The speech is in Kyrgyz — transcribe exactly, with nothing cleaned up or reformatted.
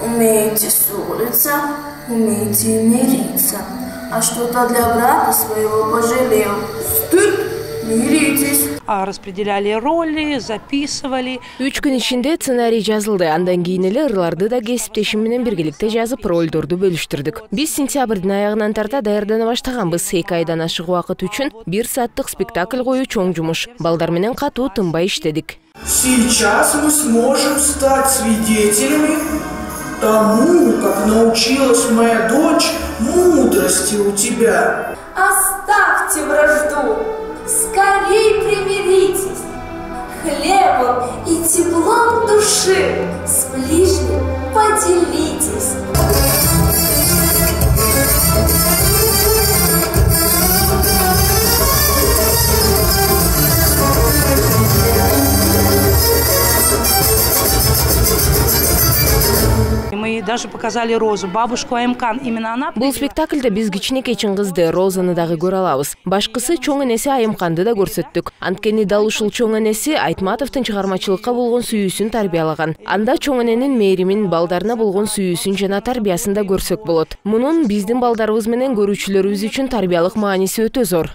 Умеете ссориться, умеете мириться. А что-то для брата своего пожалел. Стыд, миритесь. А распределяли роли, записывали. Үч күн ичинде сценарий жазылды. Андан кийин эле ырларды да кесиптешим менен биргеликте жазып, ролдорду бөлүштүрдүк. Биз сентябрдын аягынан тарта даярдана баштаганбыз. Эки айдан ашык убакыт үчүн бир сааттык спектакль коюу чоң жумуш. Балдар менен катуу тынбай иштедик. Сейчас мы сможем стать свидетелями тому, как научилась моя дочь мудрости у тебя. Оставьте вражду, скорей примиритесь, хлебом и теплом души с ближним поделитесь. Мы даже показали Розу, бабушку Аймкан. Именно она... Бул спектакльде биз кичинекей кызды Розаны дагы көрө алабыз. Башкысы чоң энеси Айымканды да көрсөттүк. Анткени дал ушул чоң энеси Айтматовдун чыгармачылыкка болгон сүйүүсүн тарбиялаган. Анда чоң эненин мээримин, балдарына болгон сүйүүсүн жана тарбиясын да көрсөк болот. Мунун биздин балдарыбыз менен көрүүчүлөрүбүз үчүн тарбиялык мааниси өтө зор.